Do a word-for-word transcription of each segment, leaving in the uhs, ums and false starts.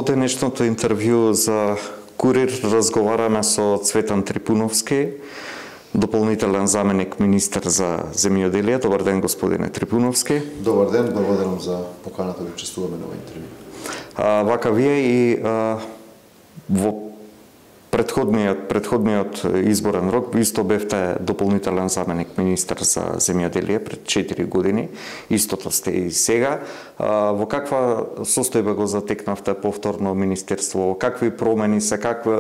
денешното интервју за Курир разговараме со Цветан Трипуновски, дополнителен заменик министер за земјоделие. Добар ден, господине Трипуновски. Добар ден, благодарам за поканата да учествуваме на овој интервју. А, вака вие и а, во Предходниот, предходниот изборен рок исто бевте дополнителен заменик министер за земјоделие пред четири години, истото сте и сега. Во каква состојба го затекнавте повторно министерство? Какви промени се, какви,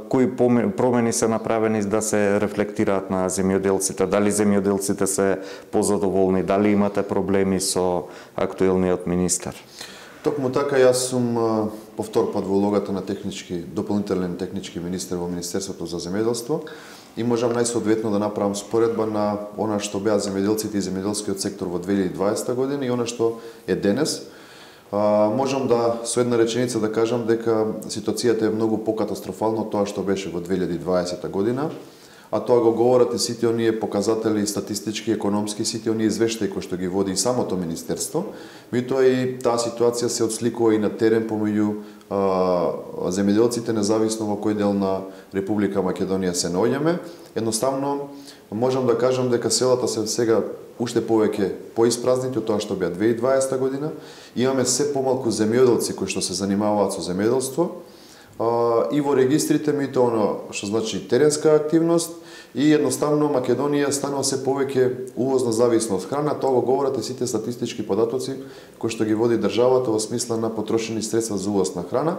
кои промени се направени да се рефлектираат на земјоделците? Дали земјоделците се позадоволни? Дали имате проблеми со актуелниот министер? Токму така, јас сум повтор пат во улогата на технички, дополнителен технички министер во Министерството за земјоделство и можам најсоодветно да направам споредба на она што беа земјоделците и земјоделскиот сектор во две илјади и дваесета година и она што е денес. А, можам да со една реченица да кажам дека ситуацијата е многу покатастрофална од тоа што беше во две илјади и дваесета година, а тоа го говорат и сите оние показатели статистички, економски, сите оние извештаи кои што ги води и самото министерство. Меѓутоа и таа ситуација се отсликува и на терен помеѓу земјоделците, независно во кој дел на Република Македонија се наоѓаме. Едноставно можам да кажам дека селата се сега уште повеќе поиспразнати од тоа што беа две илјади и дваесета година. Имаме се помалку земјоделци кои што се занимаваат со земјоделство и во регистрите, меѓутоа оно што значи теренска активност и едноставно Македонија станува се повеќе увозно зависна од храна. Тоа го говорат и сите статистички податоци кои што ги води државата во смисла на потрошени средства за увоз на храна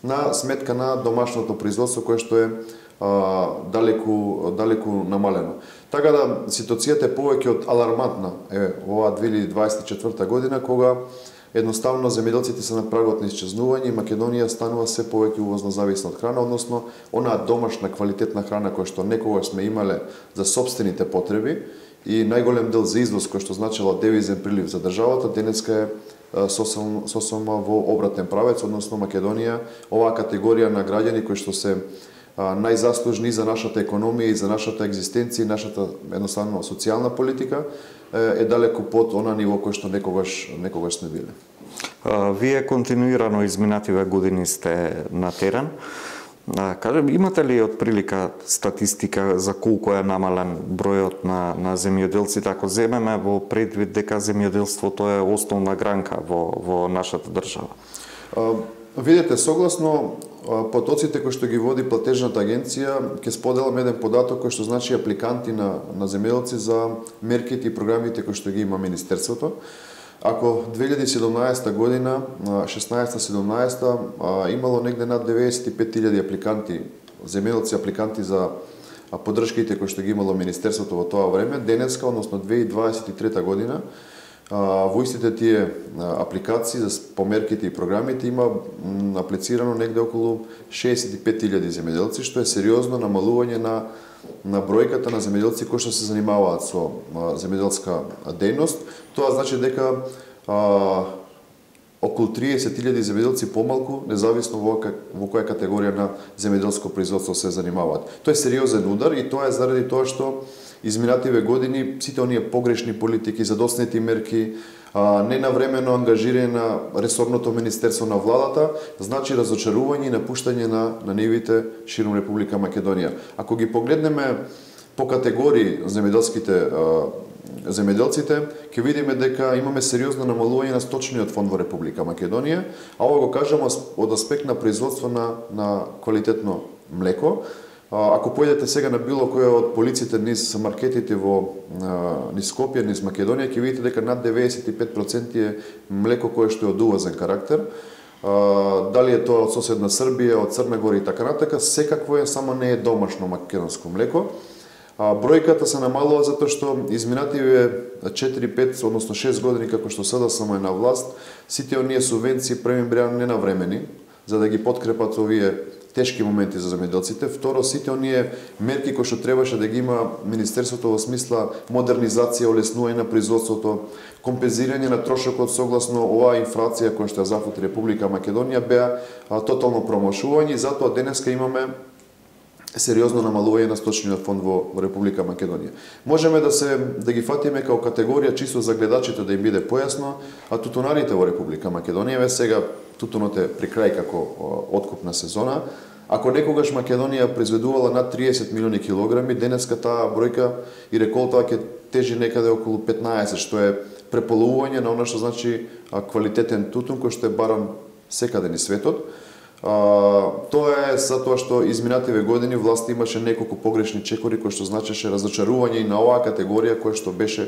на сметка на домашното производство кое што е а, далеку далеку намалено. Така да ситуацијата е повеќе од алармантна е во две илјади дваесет и четврта година кога едноставно земјоделците се на прагот на исчезнување и Македонија станува се повеќе увозно зависна од храна, односно онаа домашна квалитетна храна која што некогаш сме имале за сопстените потреби и најголем дел за извоз кој што значила девизен прилив за државата, денеска е сосем сосем во обратен правец, односно Македонија, оваа категорија на граѓани кои што се најзаслужни за нашата економија и за нашата екзистенција и нашата едноставно социјална политика е далеку под она ниво кој што некогаш некогаш сме биле. Вие континуирано изминативе години сте на терен. Кажем, имате ли од прилика статистика за колку е намален бројот на на земјоделците, ако земеме во предвид дека земјоделството е основна гранка во во нашата држава? Видете, согласно потоците кои што ги води платежната агенција, ќе споделам еден податок кој што значи апликанти на на земјоделци за мерките и програмите кои што ги има министерството. Ако две илјади и седумнаесета година, шеснаесета седумнаесета имало негде над деветдесет и пет илјади апликанти, земјоделци апликанти за поддршките кои што ги имало министерството во тоа време, денеска, односно две илјади дваесет и трета година, во истите тие апликации за померките и програмите има аплицирано негде околу шеесет и пет илјади земјоделци, што е сериозно намалување на на бројката на земјоделци кои што се занимаваат со земјоделска дејност. Тоа значи дека а, околу триесет илјади земјоделци помалку, независно во, во која категорија на земјоделско производство се занимаваат. Тоа е сериозен удар и тоа е заради тоа што изминативе години сите оние погрешни политики, задоснети мерки, ненавремено ангажирање на ресорното министерство на владата, значи разочарување и напуштање на, на нивите широм Република Македонија. Ако ги погледнеме по категории земјоделските земјоделците, ќе видиме дека имаме сериозно намалување на сточниот фонд во Република Македонија, а ова го кажам од аспект на производство на, на квалитетно млеко. Ако појдете сега на било која од полиците низ маркетите во низ Скопје, низ Македонија, ќе видите дека над деветдесет и пет проценти е млеко кое што е од увозен карактер. Дали е тоа од соседна Србија, од Црна Гора и така натака, секакво е, само не е домашно македонско млеко. Бројката се намалува затоа што изминативе четири пет, односно шест години како што СДСМ е на власт, сите оние субвенции први беа ненавремени за да ги подкрепат овие тешки моменти за земјоделците. Второ, сите оние мерки кои што требаше да ги има министерството во смисла модернизација, олеснување на производството, компензирање на трошокот согласно оваа инфлација која што ја зафати Република Македонија, беа тотално промашување и затоа денеска имаме сериозно намалување на сточниот фонд во, во Република Македонија. Можеме да се да ги фатиме као категорија чисто за гледачите да им биде појасно, а тутунарите во Република Македонија, ве сега тутунот е при крај како откупна сезона. Ако некогаш Македонија произведувала над триесет милиони килограми, денеска таа бројка и реколтава ќе тежи некаде околу петнаесет, што е преполовување на она што значи квалитетен тутун кој што е баран секаде низ светот. А, тоа е затоа што изминативе години власта имаше неколку погрешни чекори кои што значеше разочарување и на оваа категорија која што беше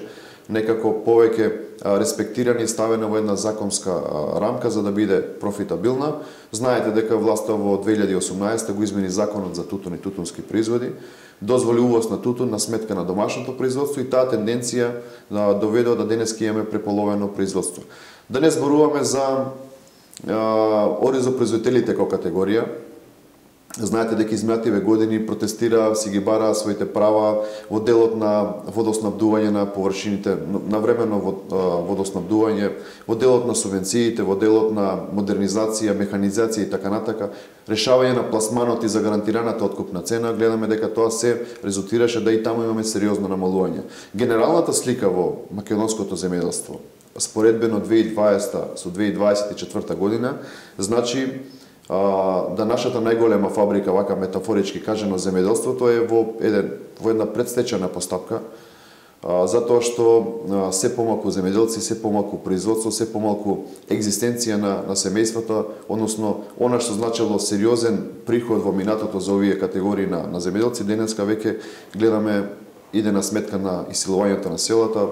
некако повеќе респектирана и ставена во една законска рамка за да биде профитабилна. Знаете дека власта во две илјади и осумнаесета го измени законот за тутун и тутунски производи, дозволи увоз на тутун на сметка на домашното производство и таа тенденција да доведува да денеска имаме преполовено производство. Да не зборуваме за оризопроизводителите како категорија. Знаете дека изминативе години протестира, си ги бара своите права во делот на водоснабдување на површините, на временно водоснабдување, во делот на субвенциите, во делот на модернизација, механизација и така натака, решавање на пласманот и за гарантираната откупна цена, гледаме дека тоа се резултираше да и таму имаме сериозно намалување. Генералната слика во македонското земјоделство споредбено две илјади и дваесета со две илјади дваесет и четврта година, значи а, да нашата најголема фабрика, вака метафорички кажано, земјоделството е во, еден, во една предстечена постапка, а, затоа што а, се помалку земјоделци, се помалку производство, се помалку екзистенција на, на семејствата, односно она што значело сериозен приход во минатото за овие категории на, на земјоделци, денеска веќе гледаме иде на сметка на исилувањето на селата.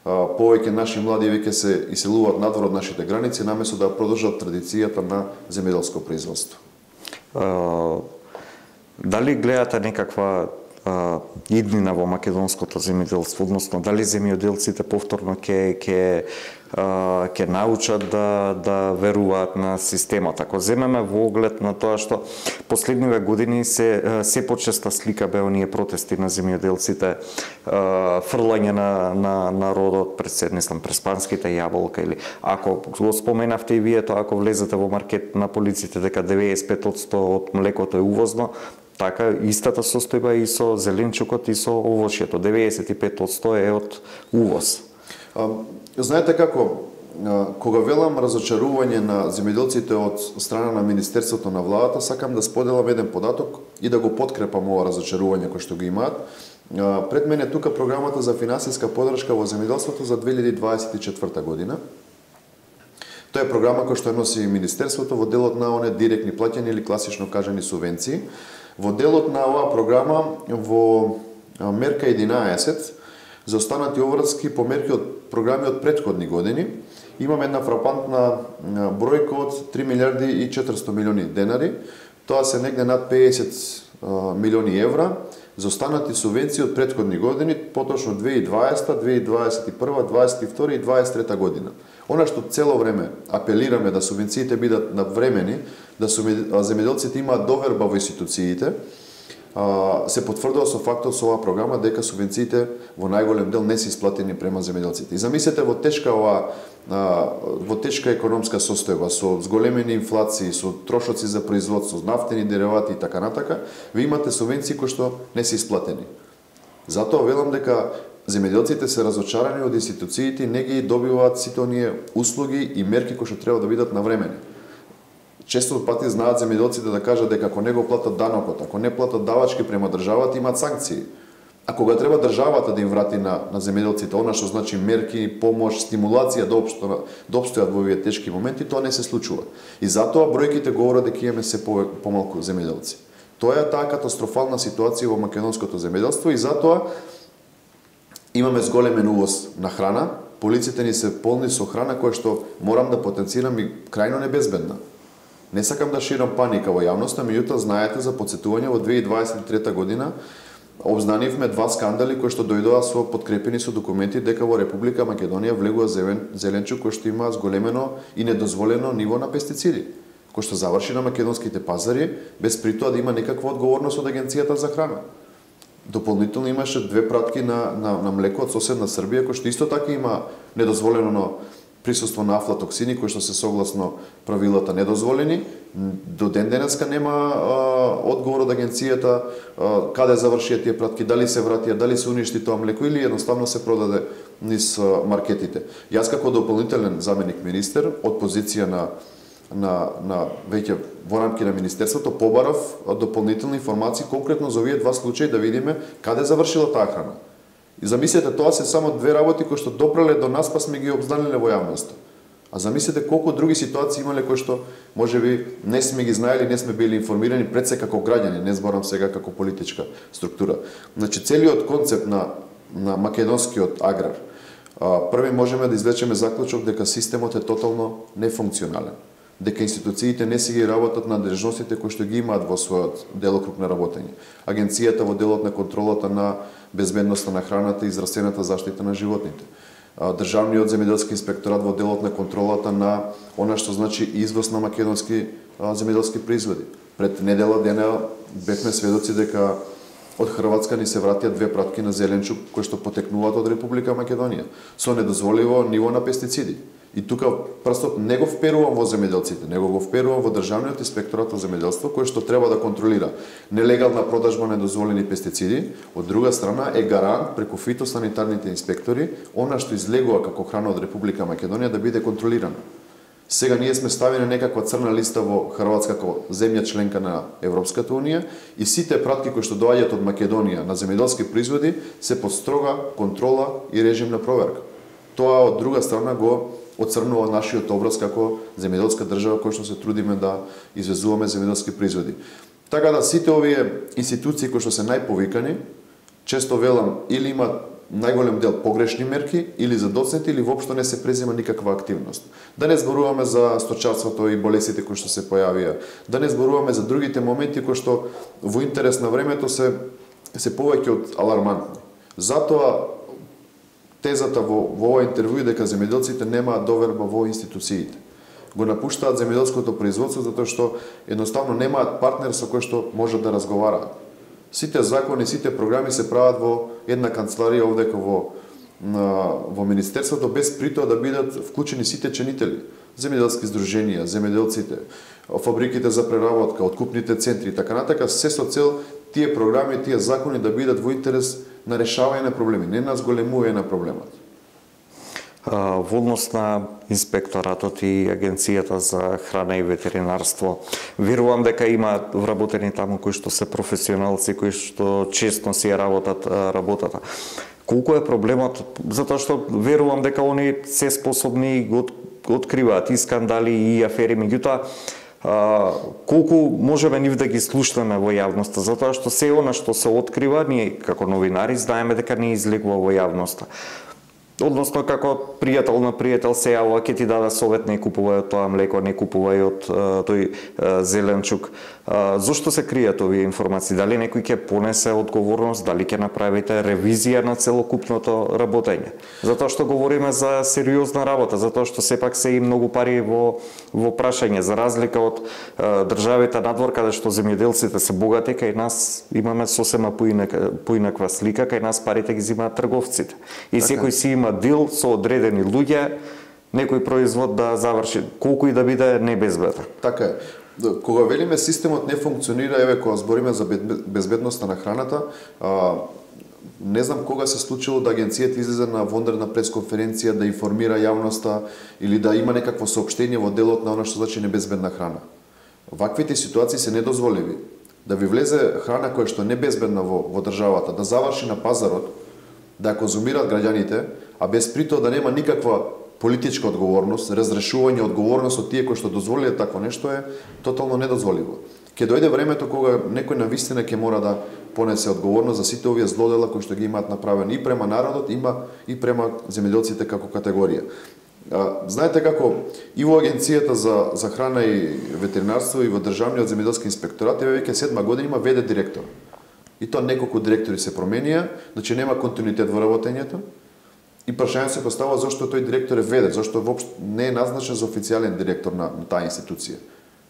Повеќе наши млади веќе се иселуваат надвор од нашите граници, наместо да продолжат традицијата на земјоделско производство. Uh, дали гледате некаква uh, иднина во македонското земјоделство, односно дали земјоделците повторно ќе ќе uh, ќе научат да да веруваат на системот? Ако земеме во оглед на тоа што последниве години се се почеста слика бе оние протести на земјоделците, фрлање на на народот пред седнислам през панските јаболка, или ако го споменавте и вие тоа, ако влезете во маркет на полиците дека деветдесет и пет одсто од млекото е увозно, така истата состојба и со зеленчукот и со овошјето, деветдесет и пет одсто е од увоз. А, знаете како, кога велам разочарување на земјоделците од страна на Министерството на владата, сакам да споделам еден податок и да го подкрепам ова разочарување кој што го имаат. Пред мене тука програмата за финансиска поддршка во земјоделството за две илјади дваесет и четврта година. Тоа е програма која што носи Министерството во делот на оне директни плаќања или класично кажани субвенции. Во делот на оваа програма во мерка единаесет за останати обврски по мерки од програми од претходни години имаме една фрапантна бројка од три милиарди и четиристо милиони денари. Тоа се негде над педесет милиони евра за останати субвенции од претходни години, поточно две илјади и дваесета, две илјади дваесет и прва, дваесет и втора и дваесет и трета година. Она што цело време апелираме да субвенциите бидат навремени, да земјоделците имаат доверба во институциите, се потврдува со фактот со оваа програма дека субвенциите во најголем дел не се исплатени према земјоделците. И замислете во тешка ова во тешка економска состојба, со зголемени инфлации, со трошоци за производство, нафтени деривати и така натака, ви имате субвенции кои што не се исплатени. Затоа велам дека земјоделците се разочарани од институциите и не ги добиваат сите оние услуги и мерки кои што треба да бидат навремени. Често пати знаат земјоделците да кажат дека ако не го платат данокот, ако не платат давачки према државата, имаат санкции. А кога треба државата да им врати на, на земјоделците она што значи мерки, помош, стимулација да, обсто, да обстојат во овие тешки моменти, тоа не се случува. И затоа бројките говорат дека имаме се по, помалку земјоделци. Тоа е таа катастрофална ситуација во македонското земјоделство и затоа имаме зголемен увоз на храна, полиците ни се полни со храна која што морам да потенцирам и крајно небезбедна. Не сакам да ширам паника во јавноста, меѓутоа знаете за потсетување во две илјади дваесет и трета година обзнанивме два скандали кои што дојдоа со подкрепени со документи дека во Република Македонија влегува зелен, зеленчук кој што има зголемено и недозволено ниво на пестициди, кој што заврши на македонските пазари без при тоа да има некаква одговорност од Агенцијата за храна. Дополнително имаше две пратки на, на, на млеко од соседна Србија кој што исто така има недозволено присуство на афлатоксини кои што се согласно правилата недозволени До ден денеска нема а, одговор од агенцијата а, каде завршија тие пратки, дали се вратија, дали се уништи тоа млеко или едноставно се продаде низ а, маркетите. Јас како дополнителен заменик министер од позиција на на на веќе во рамки на министерството побарав дополнителни информации конкретно за овие два случаи да видиме каде завршила таа храна. И замислете, тоа се само две работи кои што допреле до нас па сме ги обзнаниле во јавноста. А замислете колку други ситуации имале кои што можеби не сме ги знаели, не сме били информирани пред се како граѓани, не зборам сега како политичка структура. Значи целиот концепт на на македонскиот аграр, први можеме да извлечеме заклучок дека системот е тотално нефункционален, дека институциите не си ги работат надлежностите кои што ги имаат во својот делокруг на работење. Агенцијата во делот на контролата на безбедноста на храната и здравствената заштита на животните. Државниот земјоделски инспекторат во делот на контролата на она што значи извоз на македонски земјоделски производи. Пред недела дена бевме сведоци дека од Хрватска ни се вратија две пратки на зеленчук кои што потекнуваат од Република Македонија со недозволиво ниво на пестициди. И тука прстот не го вперувам во земјоделците, него го вперувам во Државниот инспекторат за земјоделство кој што треба да контролира нелегална продажба на недозволени пестициди, од друга страна е гарант преку фитосанитарните инспектори она што излегува како храна од Република Македонија да биде контролирано. Сега ние сме ставени некаква црна листа во Хрватска како земја членка на Европската унија и сите пратки кои што доаѓаат од Македонија на земјоделски производи се под строга контрола и режим на проверка. Тоа од друга страна го оцрнува нашиот образ како земјоделска држава кој што се трудиме да извезуваме земјоделски производи. Така да сите овие институции кои што се најповикани, често велам или имаат најголем дел погрешни мерки или задоцнати или воопшто не се презема никаква активност. Да не зборуваме за сточарството и болестите кои што се појавија, да не зборуваме за другите моменти кои што во интерес на времето се се повеќе од алармантни. Затоа тезата во, во ова интервју дека земјоделците немаат доверба во институциите. Го напуштаат земјоделското производство затоа што едноставно немаат партнер со кој што можат да разговараат. Сите закони, сите програми се прават во една канцеларија овдека во на, во министерството без при тоа да бидат вклучени сите ченители, земјоделски здруженија, земјоделците, фабриките за преработка, откупните центри и така натака, се со цел тие програми, тие закони да бидат во интерес на решавање на проблеми, не на зголемување на проблемот. Во однос на инспекторатот и Агенцијата за храна и ветеринарство, верувам дека има вработени таму кои што се професионалци, кои што честно си ја работат работата. Колку е проблемот? Затоа што верувам дека они се способни и го откриваат и скандали и афери, меѓутоа колку можеме нив да ги слушнеме во јавноста, затоа што се она што се открива, ние како новинари знаеме дека не излегува во јавноста. Односно, како пријател на пријател се јавува, ќе ти даде совет, не купувај од тоа млеко, не купувај од тој зеленчук. Зошто се кријат овие информации? Дали некој ќе понесе одговорност, дали ќе направите ревизија на целокупното работење? Затоа што говориме за сериозна работа, затоа што сепак се и многу пари во во прашање, за разлика од државите надвор каде што земјоделците се богати, кај нас имаме сосема поинаква слика, кај нас парите ги земаат трговците. И секој си има дил со одредени луѓе, некој производ да заврши, колку и да биде небезбеден. Така е. Кога велиме системот не функционира, еве кога збориме за безбедноста на храната, а, не знам кога се случило да агенцијата излезе на вонредна пресконференција да информира јавноста или да има некакво соопштение во делот на она што значи небезбедна храна. Ваквите ситуации се недозволиви. Да ви влезе храна која што е небезбедна во, во државата, да заврши на пазарот, да ја конзумираат граѓаните, а без при тоа да нема никаква политичка одговорност, разрешување одговорност од тие кои што дозволиле такво нешто е тотално недозволиво. Ќе дојде времето кога некој навистина ќе мора да понесе одговорност за сите овие злодела кои што ги имаат направени и према народот, има и према земјоделците како категорија. Знаете како и во Агенцијата за за храна и ветеринарство и во Државниот земјоделски инспекторат еве веќе седма година има ве де директор. И тоа неколку директори се променија, значи нема континуитет во работењето. И прашање се поставува зошто тој директор е ве де, зошто воопшто не е назначен за официјален директор на, на таа институција.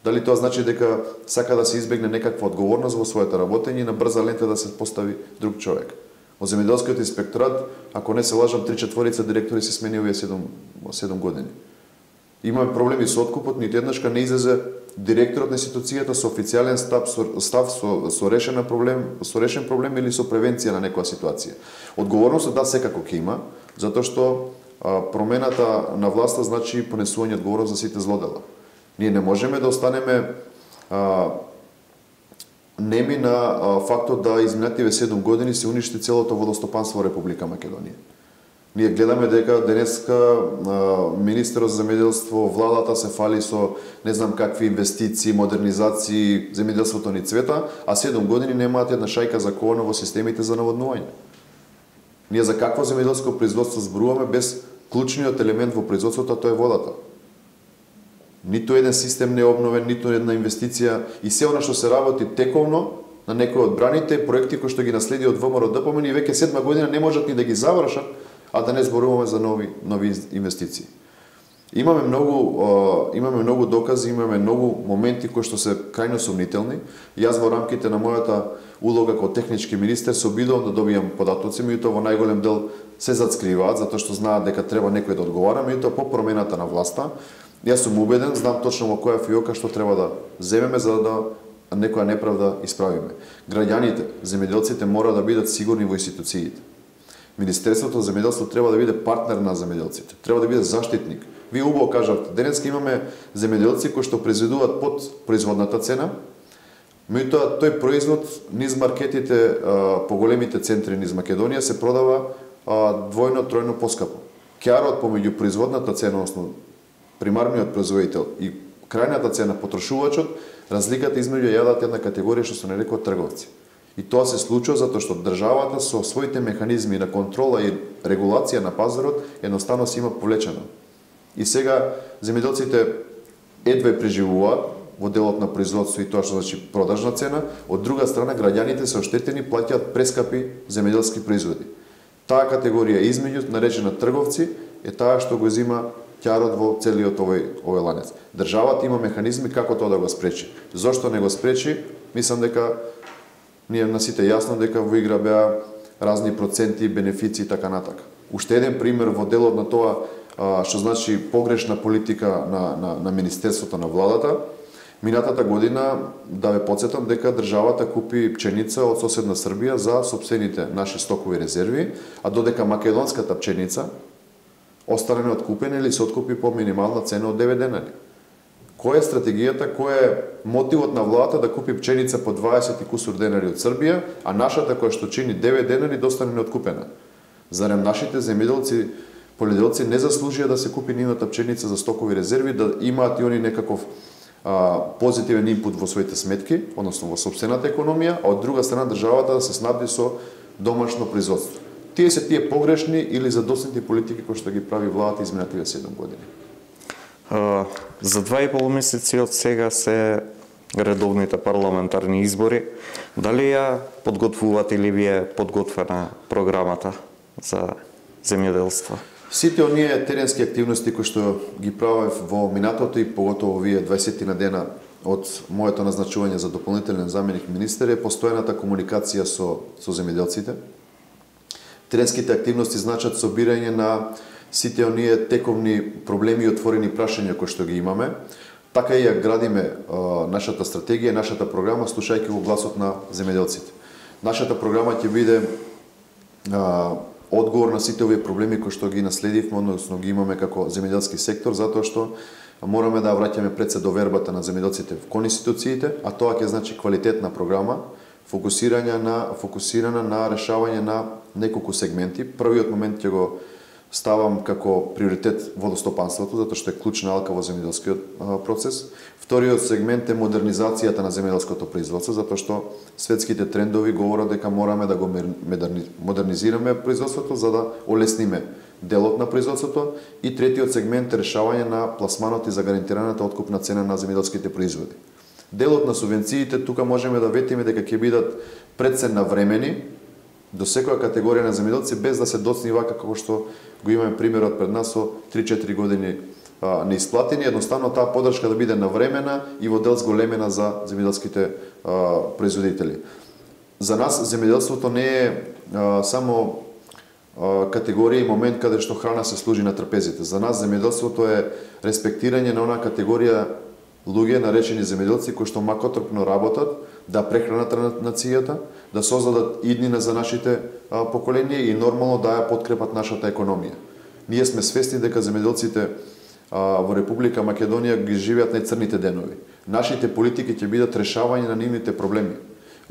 Дали тоа значи дека сака да се избегне некаква одговорност во своето работење и на брза лента да се постави друг човек. Во земјоделскиот инспекторат, ако не се лажам, три четворица директори се смени овие седум години. Имаме проблеми со откупот, ниту еднашка не излезе директорот на институцијата со официјален став со, став со, со решен проблем, со решен проблем или со превенција на некоја ситуација. Одговорност да секако ќе има, затоа што а, промената на власта значи понесување одговорност за сите злодела. Ние не можеме да останеме а, неми на а, фактот да изминативе седум години се уништи целото водостопанство во Република Македонија. Ние гледаме дека денеска а, министерот за земјоделство, владата се фали со не знам какви инвестиции, модернизации, земјоделството ни цвета, а седум години немаат една шајка за коона во системите за наводнување. Ние за какво земјоделско производство зборуваме без клучниот елемент во производството, тоа е водата. Ниту еден систем не е обновен, ниту една инвестиција и се она што се работи тековно на некои од браните проекти кои што ги наследи од ВМРО-ДПМН и веќе седма година не можат ни да ги завршат, а да не зборуваме за нови нови инвестиции. Имаме многу имаме многу докази, имаме многу моменти кои што се крајно сомнителни. Јас во рамките на мојата улога како технички министер се обидувам да добијам податоци, меѓутоа во најголем дел се зацкриваат затоа што знаат дека треба некој да одговара, меѓутоа по промената на власта јас сум убеден, знам точно во која фиока што треба да земеме за да некоја неправда исправиме. Граѓаните, земјоделците мора да бидат сигурни во институциите. Министерството за земјоделство треба да биде партнер на земјоделците, треба да биде заштитник. Вие убаво кажавте, денеска имаме земјоделци кои што произведуваат под производната цена, меѓутоа тој производ низ маркетите по големите центри низ Македонија се продава двојно, тројно поскапо. Кјарот помеѓу производната цена, односно примарниот производител и крајната цена потрошувачот, разликата измеѓу ја јадат една категорија што се нарекува трговци. И тоа се случува затоа што државата со своите механизми на контрола и регулација на пазарот едноставно се има повлечено. И сега земјоделците едве преживуваат во делот на производство и тоа што значи продажна цена, од друга страна граѓаните се оштетени, плаќаат прескапи земјоделски производи. Таа категорија измеѓу наречена трговци е таа што го зема ќарот во целиот овој овој ланец. Државата има механизми како тоа да го спречи. Зошто не го спречи? Мислам дека ние на сите јасно дека во игра беа разни проценти, бенефици и така натака. Уште еден пример во делот на тоа што значи погрешна политика на, на, на Министерството на владата. Минатата година, да ве потсетам дека државата купи пченица од соседна Србија за сопствените наши стокови резерви, а додека македонската пченица остане неоткупена или се откупи по минимална цена од девет денари. Која е стратегијата, кој е мотивот на владата да купи пченица по дваесет и кусур денари од Србија, а нашата која што чини девет денари да остане неоткупена? Зарем нашите земјоделци, полјоделци не заслужија да се купи нивната пченица за стокови резерви, да имаат и они некаков а, позитивен инпут во своите сметки, односно во сопствената економија, а од друга страна државата да се снабди со домашно производство. Тие се тие погрешни или задоснати политики кои што ги прави владата изминативе седум години. Uh, за два и пол месеци од сега се редовните парламентарни избори. Дали ја подготвувате или ви е подготвена програмата за земјоделство? Сите оние теренски активности кои што ги правев во минатото и поготово вие дваесет на дена од моето назначување за дополнителен заменик министер е постојаната комуникација со со земјоделците. Теренските активности значат собирање на сите оние тековни проблеми и отворени прашања кои што ги имаме. Така и ја градиме а, нашата стратегија, нашата програма, слушајќи во гласот на земјоделците. Нашата програма ќе биде а, одговор на сите овие проблеми кои што ги наследивме, односно ги имаме како земјоделски сектор, затоа што мораме да враќаме пред се довербата на земјоделците кон институциите, а тоа ќе значи квалитетна програма, фокусирање на фокусирана на решавање на неколку сегменти. Првиот момент ќе го ставам како приоритет водостопанството, затоа што е клучна алка во земјоделскиот процес. Вториот сегмент е модернизацијата на земјоделското производство, затоа што светските трендови говорат дека мораме да го модернизираме производството за да олесниме делот на производството. И третиот сегмент е решавање на пласманот и за гарантираната откупна цена на земјоделските производи. Делот на субвенциите тука можеме да ветиме дека ќе бидат предсен навремени до секоја категорија на земјоделци без да се доцни вака како што го имаме примерот пред нас со три-четири години а, неисплатени, едноставно таа поддршка да биде навремена и во дел зголемена за земјоделските производители. За нас земјоделството не е а, само а, категорија и момент каде што храна се служи на трпезите. За нас земјоделството е респектирање на онаа категорија луѓе наречени земјоделци кои што макотрпно работат да прехранат нацијата, да создадат иднина за нашите а, поколенија и нормално да ја подкрепат нашата економија. Ние сме свесни дека земјоделците а, во Република Македонија ги живеат најцрните денови. Нашите политики ќе бидат решавање на нивните проблеми.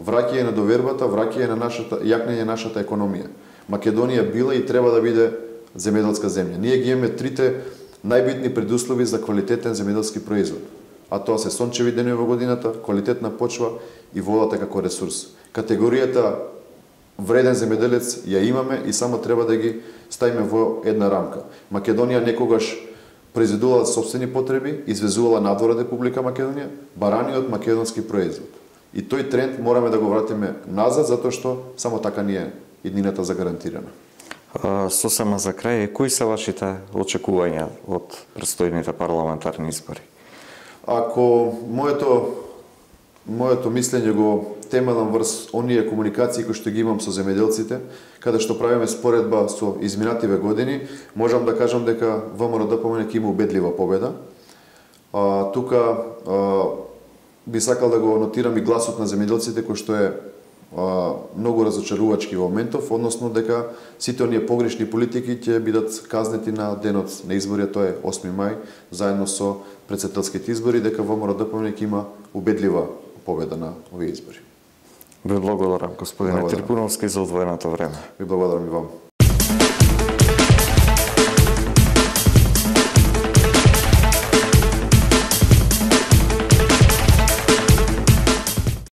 Враќање на довербата, враќање на нашата, јакнење на нашата економија. Македонија била и треба да биде земјоделска земја. Ние ги имаме трите најбитни предуслови за квалитетен земјоделски производ. А тоа се сончеви денови во годината, квалитетна почва и водата како ресурс. Категоријата вреден земјоделец ја имаме и само треба да ги ставиме во една рамка. Македонија некогаш произведувала собствени потреби, извезувала надвор од Република Македонија, барани од македонски производ. И тој тренд мораме да го вратиме назад, затоа што само така ни е иднината загарантирана. Сосема за крај, кои се вашите очекувања од предстојните парламентарни избори? Ако моето моето мислење го темелам врз оние комуникации кои што ги имам со земјоделците, каде што правиме споредба со изминативе години, можам да кажам дека ВМРО-ДПМН ќе има убедлива победа. А, тука а, би сакал да го нотирам и гласот на земјоделците кој што е а, многу разочарувачки во моментов, односно дека сите оние погрешни политики ќе бидат казнети на денот на избори, тоа е осми мај, заедно со претседателските избори, дека ВМРО-ДПМН ќе има убедлива победа на овие избори. Ви благодарам, господине Трипуновски, за одвоеното време. Ви благодарам и вам.